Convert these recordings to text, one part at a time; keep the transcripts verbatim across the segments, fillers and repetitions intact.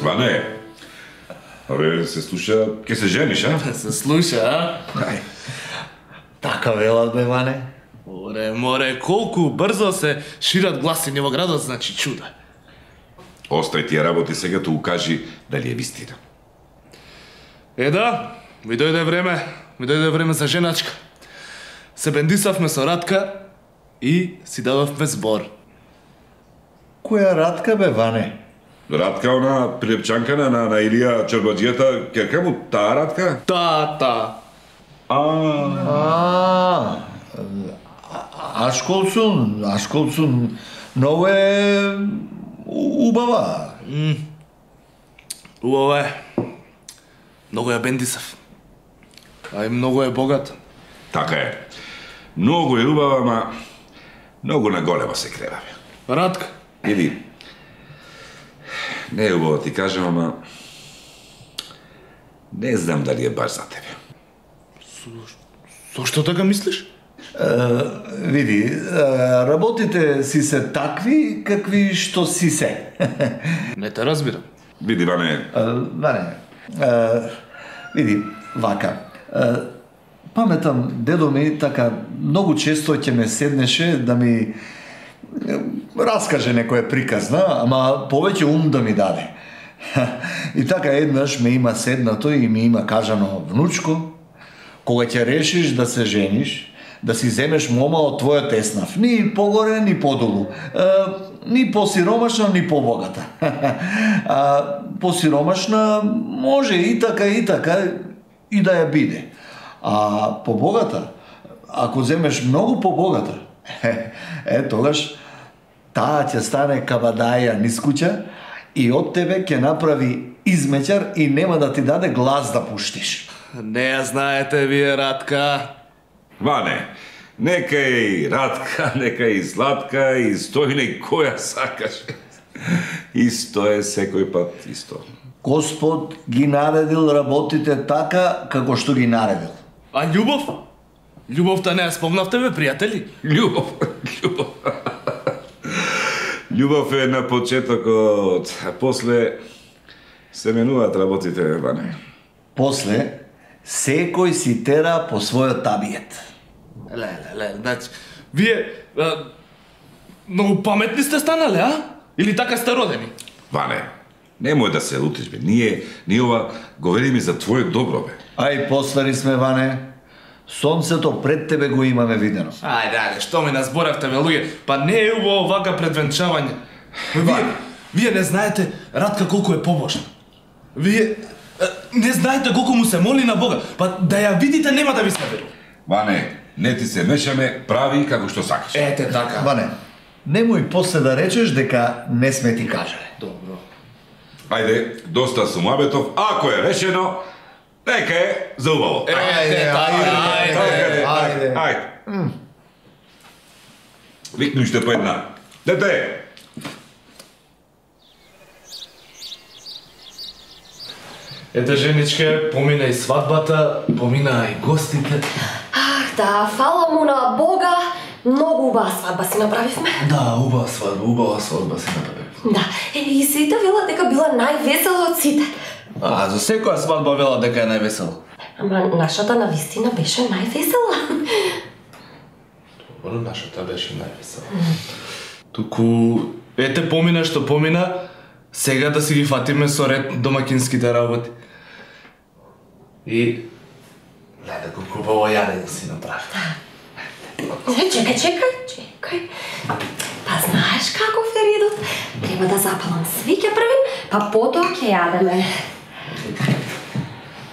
Ване, абе, се слуша, ке се жениш, а? Се слуша, а? Ај. Така велат, бе, Ване. Оре, море, колку брзо се шират гласини во градот, значи чудо. Остај тие работи сега, ту кажи дали е вистина. Е да, ми дојде време, ми дојде време за женачка. Се бендисавме со Радка и си дадовме збор. Која Радка, бе, Ване? Радка, она прилепчанка на, на Илија Чорбаджијата, керка му таа Радка? Та, та. А, А, Ашколсун, Ашколсун, многу е убава. Убаво е. Многу ја бендисав. А и многу е богат. така е. Многу е убава, ма многу на голема се креваме. Радка. Или, не е убаво ти кажем, ама не знам дали е баш за тебе. Зошто така мислиш? Види, е, работите си се такви какви што си се. Не те разбирам. Види, Ване, Е, Ване, е, види, вака. Е, Паметам, дедо ми така многу често ќе ме седнеше да ми е, раскаже некоја приказна, ама повеќе ум да ми даде. И така еднаш ме има седнато и ми има кажано: внучко, кога ќе решиш да се жениш, да си земеш мома од твојот еснав, ни погоре, ни подолу, е, ни посиромашна, ни побогата. А посиромашна може и така и така и да ја биде. А побогата, ако земеш многу побогата, е, е тогаш таа ќе стане кабадаја низ куќа и од тебе ќе направи измеќар и нема да ти даде глас да пуштиш. Не ја знаете вие, Радка. Ване, нека и Радка, нека и Златка, и Стојне, која сакаш. Исто е секој пат, исто. Господ ги наредил работите така како што ги наредил. А љубов? Љубовта не ја спомнавте, бе, пријатели? Љубов, љубов. Љубов е на почетокот, а после се менуваат работите, Ване. После, секој си тера по својот табиет. Ле, ле, ле, значи, вие а, многу паметни сте станале, а? Или така сте родени? Ване, немој да се лутиш, бе. Ние, ние ова говориме за твое добро, бе. Ај, постари сме, Ване. Сонцето пред тебе го имаме видено. Ајде, ајде, што ми назборавте, бе, луѓе? Па не е убаво вака предвенчавање. Вие, вие не знаете Радка колку е побожна. Вие е, не знаете колку му се моли на Бога. Па да ја видите нема да ви се верува. Ване, не ти се мешаме, прави како што сакаш. Ете така. Ване, немој после да речеш дека не сме ти кажале. Добро. Ајде, доста сумабетов, ако е решено, нека е за убаво. Ете така, ајде. Ајде, ајде. Викни уште по една. Дете! Ете, женичке, помина и свадбата, помина и гостите. Ах, да, фала му на Бога, многу убава свадба си направивме. Да, убава свадба, убава свадба си направи. Да, е, и сите вела дека била највесела од сите. А, за секоја свадба вела дека е највесела. Ама нашата навистина беше највесела. Добро, нашата беше највесела. Туку, ете помина што помина, сега да си ги фатиме со ред домакинските работи. И... Леле, колку убаво јадење си направи. Чекај, чекај, чекај. Па знаеш каков е редот? Треба да запалам свиќа првин, па потоа ќе јадеме.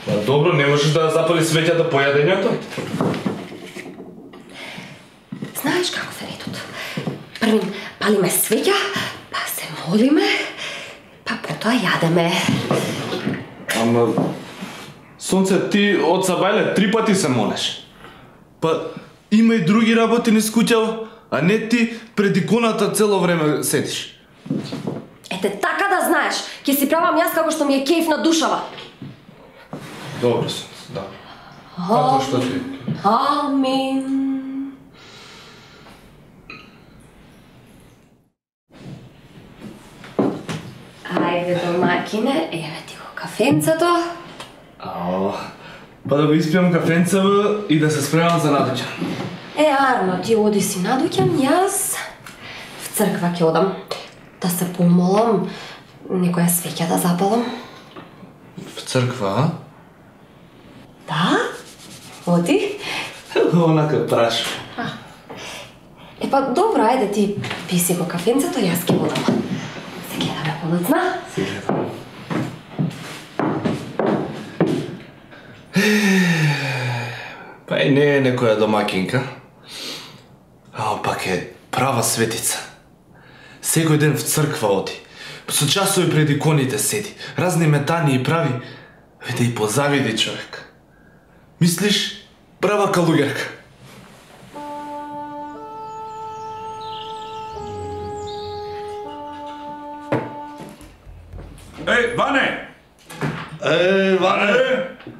Па добро, не можеш да запали свеќата по јадењето? Знаеш каков е редот? Првин палиме свеќа, па се молиме, па потоа јадеме. Ама... Сонце, ти од Сабајле три пати се молеш. Па има и други работи низ куќава, а не ти пред иконата цело време седиш. Ете така да знаеш, ќе си правам јас како што ми е кејф на душава. Добро, Сонце, да. Како што ти? Амин. Вакине, еве ти го кафенцето. Ао, па да го испијам кафенцево и да се спремам за надоќа. Е, Арно, ти оди си надоќам, јас в црква ќе одам. Да се помолам, некоја свеќа да запалам. В црква, а? Да? Оди? Онака праш. Е па добро, ајде ти писи го кафенцето, јас ќе одам. Се гледаме понацна. Се гледам. Па и не е некоја домакинка, а пак е права светица. Секој ден в црква оди. Со часови пред иконите седи. Разни метани прави. Виде и позавиди човек. Мислиш, права калугерка. Еј, Ване! Е, Ване!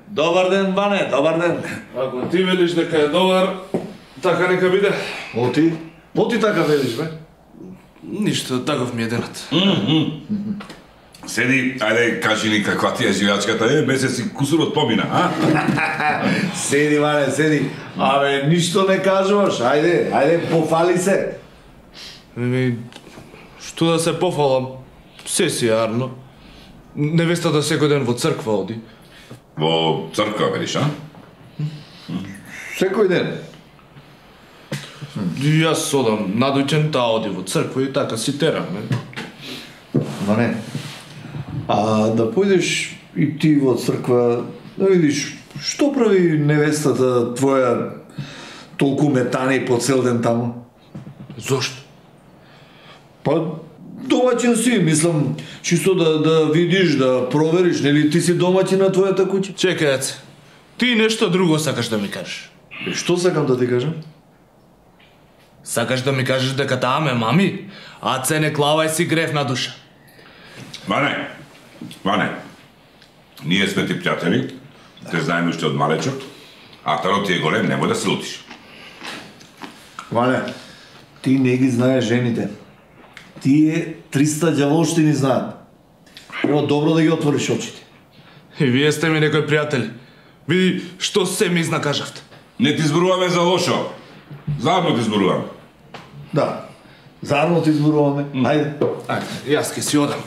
Добар ден, Ване, добар ден. Ако ти велиш дека е добар, така нека биде. Оти? Оти така велиш, бе? Ништо, таков ми е денот. Седи, ајде, кажи ни каква ти е живеачката, е, месеци кусурот помина, а? Седи, Ване, седи. Абе, ништо не кажуваш, ајде, ајде, пофали се. Еми, што да се пофалам? Се си јарно. Невестата секој ден во црква оди. Во црква, велиш, а? Секој ден. Јас одам надоќен, таа оди во црква и така си тераме. Ване, а да појдеш и ти во црква, да видиш што прави невестата твоја толку метани по цел ден таму? Зошто? Па, домаќин си, мислам, чисто да, да видиш, да провериш, нели ти си домаќин на твојата куќа? Чекај, Аце. Ти нешто друго сакаш да ми кажеш. Е, што сакам да ти кажам? Сакаш да ми кажеш дека таа ме мами? Аце, не клавај си грев на душа. Ване, Ване, ние сме ти пријатели, те знаеме уште од малечок, а тарот ти е голем, немој да се лутиш. Ване, ти не ги знаеш жените. Тие триста ѓаволштини знаат. Треба добро да ги отвориш очите. И вие сте ми некои пријатели. Види што се ми изнакажавте. Не ти зборуваме за лошо. Заедно ти зборуваме. Да, заедно ти зборуваме. Ајде. Ајде, јас ке си одам.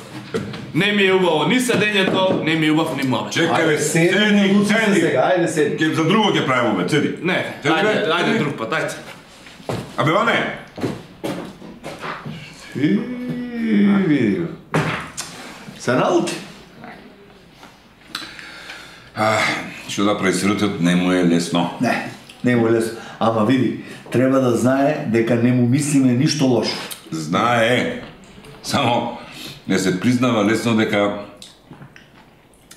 Не ми е убаво ни седењето, не ми е убав ни мове. Чекај, бе, седи, седи, лути се седи. сега, ајде седи. Ке за друго ќе правиме, бе, седи. Не, Седи, ајде, бе, ајде седи. друг пат, ајде. Абе, Ване, И, види го. Се наути. што да прави сиротот не му е лесно. Не, не му е лесно. Ама види, треба да знае дека не му мислиме ништо лошо. Знае, само не се признава лесно дека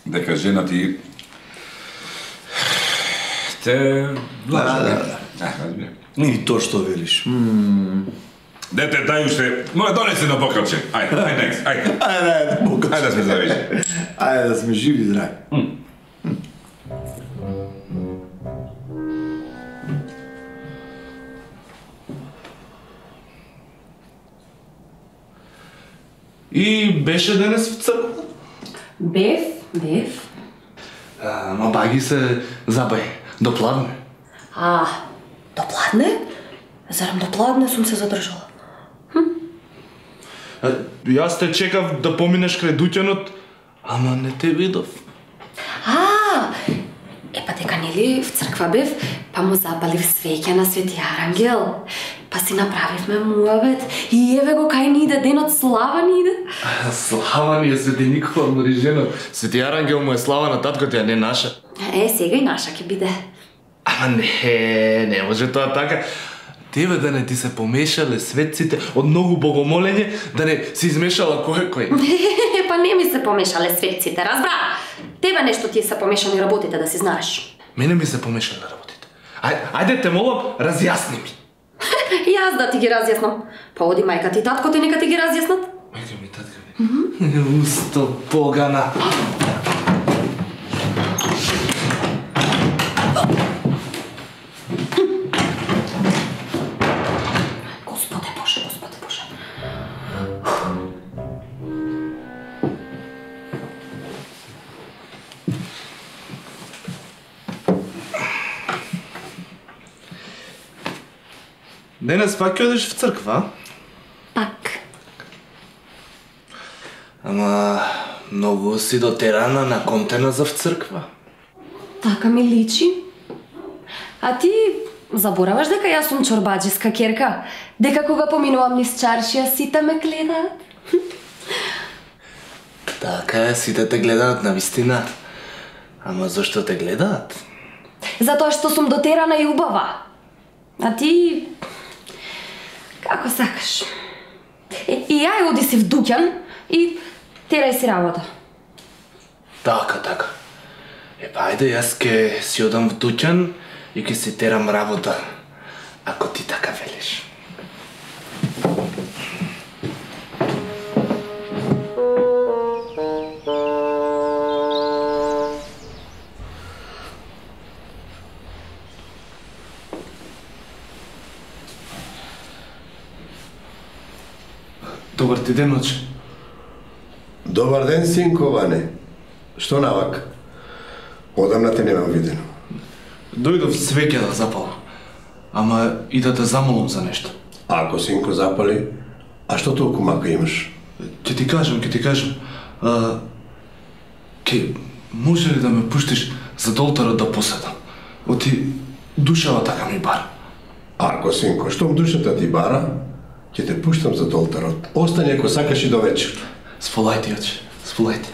дека жена ти те лаже. Да, Да, разбира. И то што велиш. Дете, дај уште, моја донесе на покрче. Ајде, ајде, ајде, ајде. Ајде, ајде, покажи. Ајде да сме завежи. Ајде да сме живи, здрави. И беше денес в црква? Бев, бев. А, ма баги се забај, допладне. А, допладне? Зарам допладне сум се задржала? А, јас те чекав да поминеш крај дуќанот, ама не те видов. А, е па дека нели в црква бев, па му запалив свеќа на Свети Арангел. Па си направивме муабет и еве го кај ни иде денот, слава ни иде. Слава ни е Свети Никола Мориженов. Свети Арангел му е слава на таткото, а не наша. Е, сега и наша ќе биде. Ама не, не може тоа така. Тебе да не ти се помешале светците од многу богомолење, да не си измешала кој кој. Па не ми се помешале светците, разбра? Тебе нешто ти се помешани работите, да си знаеш. Мене ми се помешале работите. Ајде, ајде те молам, разјасни ми. Јас да ти ги разјаснам. Па оди мајка ти и татко ти нека ти ги разјаснат. Мајка ми, татка ми. Усто погана. Господе Боже, Господе Боже. Денес пак ќе одиш в црква? Пак. Ама многу си дотерана на контена за в црква. Така ми личи. А ти забораваш дека јас сум чорбаджиска керка? Дека кога поминувам низ чаршија сите ме гледаат? Така е, сите те гледаат на вистина. Ама зашто те гледаат? Затоа што сум дотерана и убава. А ти... како сакаш. И, и ја оди си в дуќан и терај си работа. Така, така. Епа, ајде, јас ке си одам в дуќан и ке си терам работа, ако ти така велиш. Добар ти ден, оче. Добар ден, синко Ване. Што навак? Одамна те немам видено. Дојдов свеќе да запалам. Ама и да те замолам за нешто. Ако синко запали, а што толку мака имаш? Ќе ти кажам, ќе ти кажам. А, ке, може ли да ме пуштиш за до олтарот да поседам? Оти душава така ми бара. Ако синко, штом душата ти бара, ќе те пуштам за олтарот. Остани ако сакаш и до вечер. Сполајте, оче, сполајте.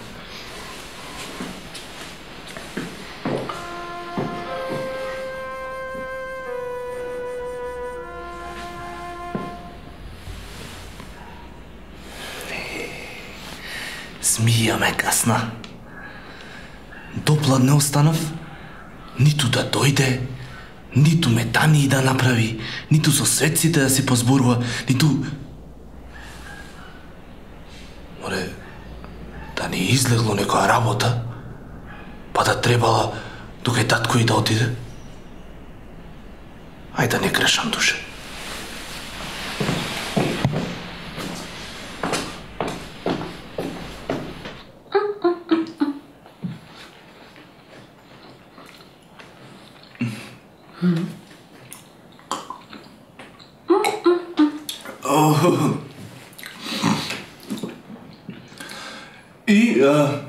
Змија ме касна. Доплад не останав, ниту да дојде, ниту метани да направи, ниту со светците да си позборува, ниту... Море, да не излегло некоја работа, па да требала тука татко и да отиде. Ајде да не грешам душе. И а,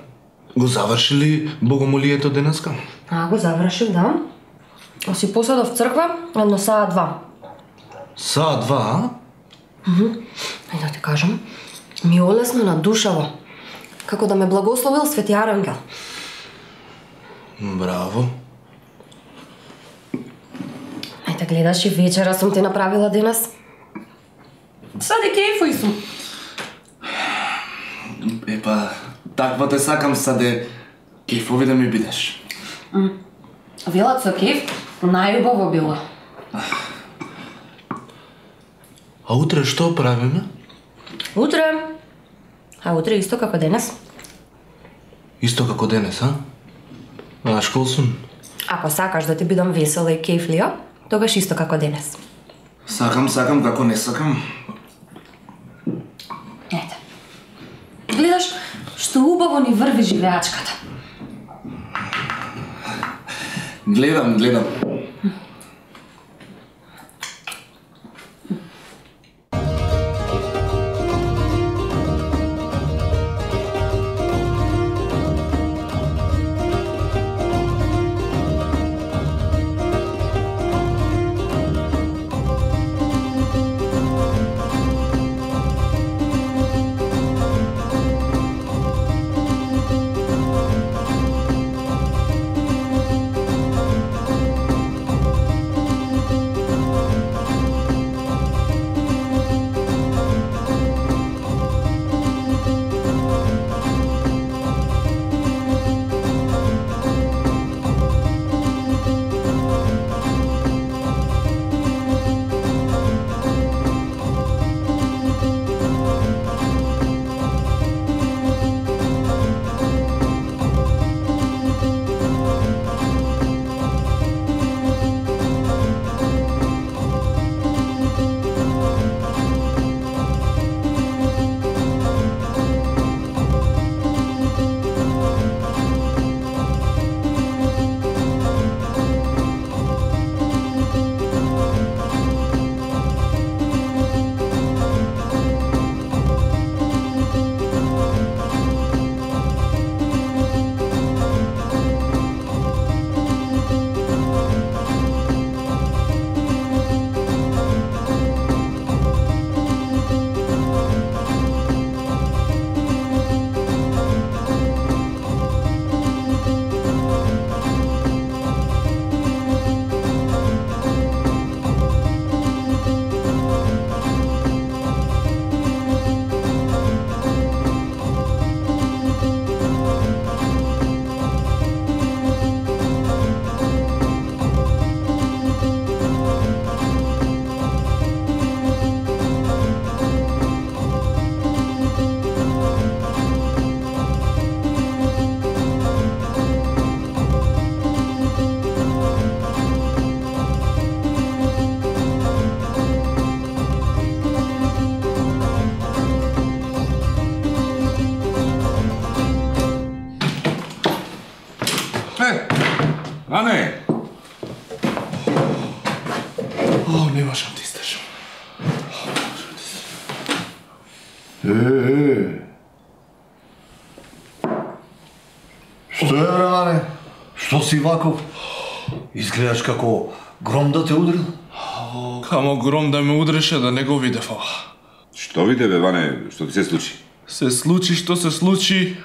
го завршили богомолието денеска? А, го завршив, да. Си поседов в црква, едно саа два. Саа два, а? Ајде да ти кажам, ми олесно на душава. Како да ме благословил Свети Арангел. Браво. Ајде гледаш и вечера сум ти направила денес. Сади кејфој сум. Епа, таква те сакам саде кејфови да ми бидеш. Велат со кејф најубаво било. А утре што правиме? Утре... А утре исто како денес. Исто како денес, а? А школсун? Ако сакаш да ти бидам весела и кејфлија, тогаш исто како денес. Сакам, сакам, како не сакам. Ете. Гледаш, што убаво ни врви живеачката. Гледам, гледам. А не. О, не можам да издржам. Е, е. Што е, браване? Што си ваков? Изгледаш како гром да те удрил? Камо гром да ме удреше да не го видев ова. Што виде, бе, Ване, што ти се случи? Се случи што се случи,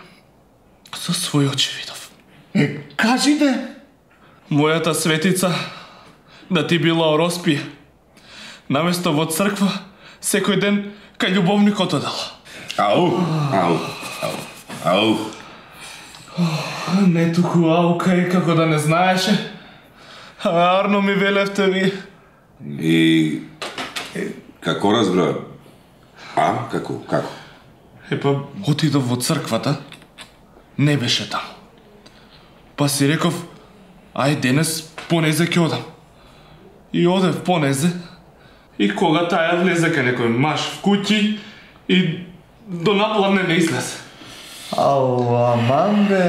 со своји очи видов. Е, кажите! Мојата светица да ти била ороспија. Наместо во црква, секој ден кај љубовникот одела. Ау, ау, ау, ау. Не туку аука и како да не знаеше. А Арно ми велевте ви. И... како разбра? А, како, како? Епа, отидов во црквата, не беше таму. Па си реков, ај денес понезе ќе одам. И одев понезе, и кога таја влезе кај некој маж в куќи, и до напладне не излезе. Ау, аман бе.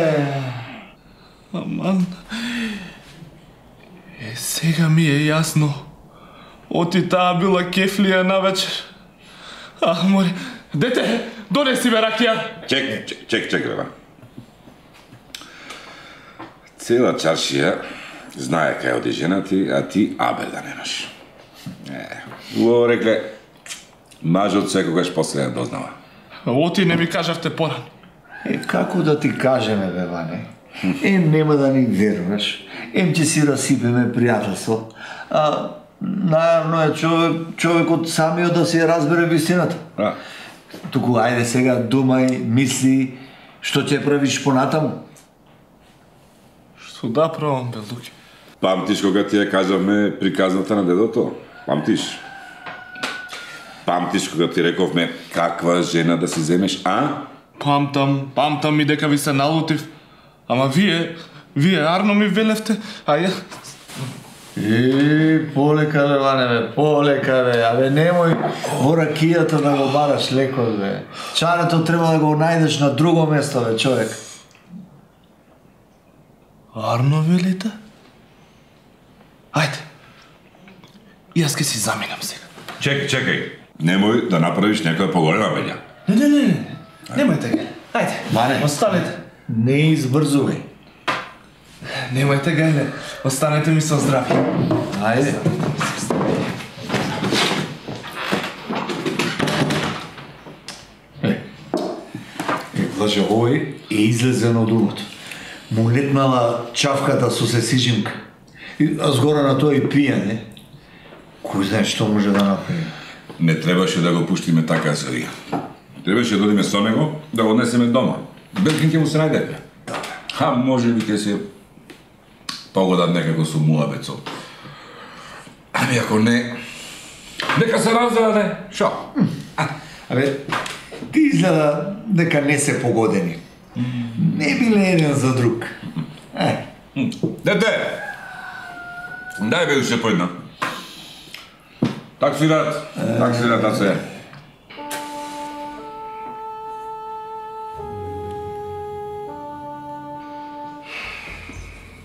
Аман... Е, сега ми е јасно. Оти таа била кефлија навечер. Ах, море... Дете, донеси ме ракија. Чек, чек, чек, чек, бе, Ване. Цела чаршија знае кај оди жена ти, а ти абер да немаш. Е, убаво рекле, мажот секогаш после не дознава. Оти не ми кажавте порано. Е, како да ти кажеме, бе, Ване? Ем нема да ни веруваш, ем ќе си расипеме пријателство, а најавно е човек, човекот самиот да си ја разбере вистината. А? Туку, ајде сега думај, мисли, што ќе правиш понатаму? Што да правам, бе, Луки? Памтиш кога ти ја кажавме приказната на дедото? Памтиш? Памтиш кога ти рековме каква жена да си земеш, а? Памтам, памтам и дека ви се налутив. Ама вие, вие Арно ми велевте, а ја... Е, полека бе, Ване, бе, полека бе, абе немој во ракијата да го бараш леко, бе. Чарето треба да го најдеш на друго место, бе, човек. Арно велите? Ајде. Јас ке си заминам сега. Чекај, чекај. Немој да направиш некоја поголема бења. Не, не, не, не. Немојте га. Ајде, Ване. останете. Не избрзувај. Немојте га, не. Останете ми со здравје. Ајде. Е, е, значи, овој е излезен од умот. Му летнала чавката со сесижимка. И, а згора на тоа и пијане. Кој знае што може да направи? Не требаше да го пуштиме така сарија. Требаше да одиме со него, да го однесеме дома. Белкин ќе му се најде. А може би ќе се погодат некако со муабецот. Ами ако не, нека се разведе. Шо? Абе, ти изгледа дека не се погодени. Не биле еден за друг. Е. Дете! Дај бе уште по една. Так свират, так свират, да се.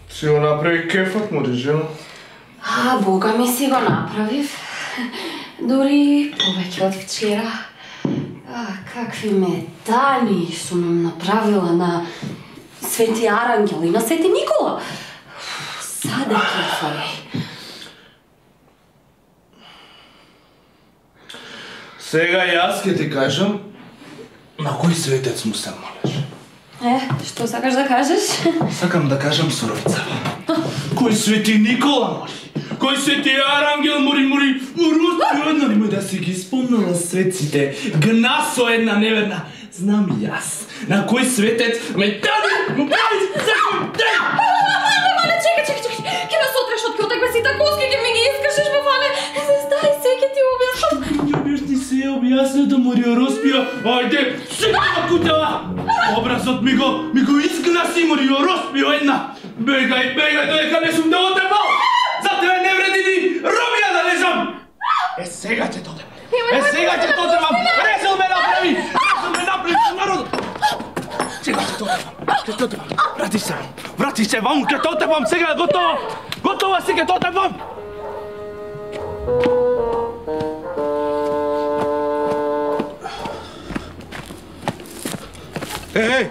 Си го направи кефот, му режено. А, Бога ми си го направив. Дори повеќе од вчера. А, какви медали сум им направила на Свети Арангел и на Свети Никола. Саде кефај. Сега јас ке ти кажам на кој светец му се молиш. Е, што сакаш да кажеш? Сакам да кажам суровицава. Кој Свети Никола моли? Кој Свети Арангел мори, мори, мори, една немој да си ги спомнала светците. Гнасо една неверна. Знам и јас. На кој светец ме даде, му прави секој ден. Ване, чекај, чекај, чекај. Ке ме сотреш од котек, си такоски, ке ми ги искашеш, бе, Ване. Стай, се, ке ти објаснам. Јубиш ти се објаснил да мори Ороспија. Ајде, сега на кутела. Образот ми го, ми го изгласи мори Ороспија една. Бегај, бегај, доека не сум да отебал. За тебе не вреди ни робија да лежам. Е, сега ќе додем. Е, сега ќе додем. Резил ме направи. Резил ме направи народ. Сега ќе додем. Ќе додем. Врати се. Врати ти се вам, ке то тебам сега, готово! Готово си, ке то тебам! Еј!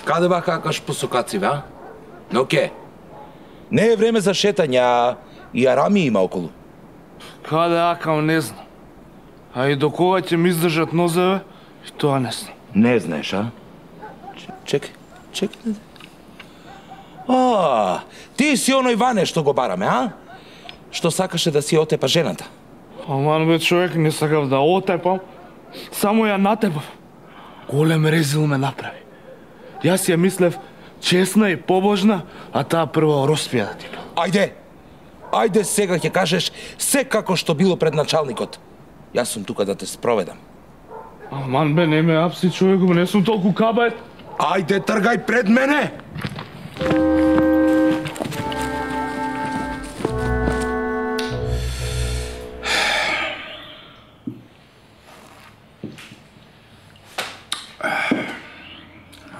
Каде ба какаш посокаци, а? Но ке? Не е време за шетање, а и арами има околу. Каде акам, не знам. А и до кога ќе ми издржат нозеве, и тоа не знам. Не знаеш, а? Чекај, чекај. А, ти си оној Ване што го бараме, а? Што сакаше да си отепа жената. Аман бе, човек, не сакав да отепам, само ја натепав. Голем резил ме направи. Јас ја мислев честна и побожна, а таа прво роспија да ти бил. Ајде, ајде сега ќе кажеш се како што било пред началникот. Јас сум тука да те спроведам. Аман бе, не ме апси, човеку, не сум толку кабајт. Ајде, тргај пред мене!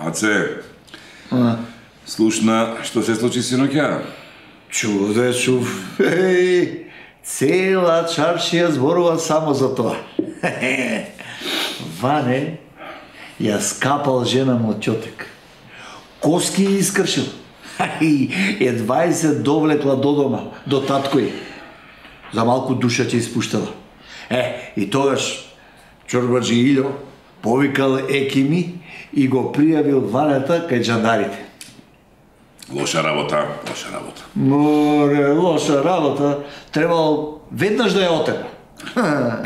Аце, слушна, што се случи синоќа? Чуде, чув. Еј, цела чаршија зборува само за тоа. Ване ја скапал жена му од ќотек. Коски ја искршил. И едва и се довлекла до дома, до таткој. За малку душа ќе испуштала. Е, и тогаш Чорбаджи Илјо повикал екими и го пријавил Ванета кај джандарите. Лоша работа, лоша работа. Море, лоша работа. Требало веднаш да ја отепа.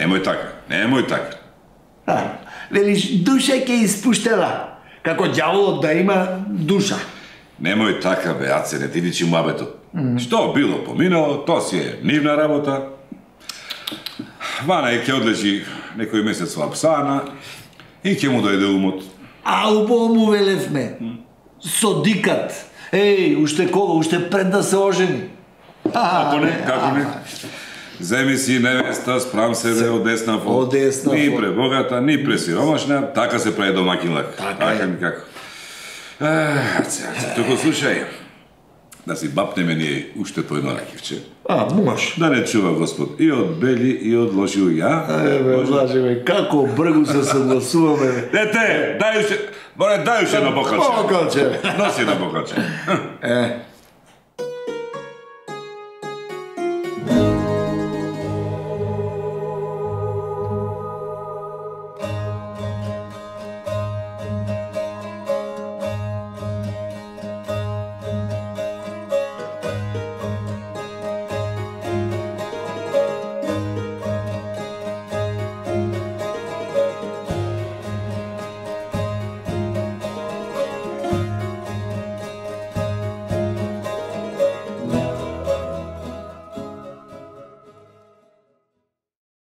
Немој така, немој така. А, велиш, душа ќе испуштела. Како ѓаволот да има душа. Немој така, бе, Аце, не ти личи муабетот. Што било поминало, то си е нивна работа. Вана е ќе одлежи некој месец во Апсана и ќе му дојде умот. А убаво му велевме. Содикат. Еј, уште кога, уште пред да се ожени. Како не, како не. Земи си невеста, спрам себе одеснафо. Одеснафо. Ни пребогата, ни пресиромашна, така се прави домакин лак. Така ми како. Аце, аце, току слушај. Да си бапнеме ние уште по едно ракивче. А, може. Да не чува Господ и од бели и од лоши луѓе, а? Еве, влажеме, како бргу се согласуваме. Дете, дај уште, море, дај уште на бокалче. Бокалче. Носи на бокалче. Е,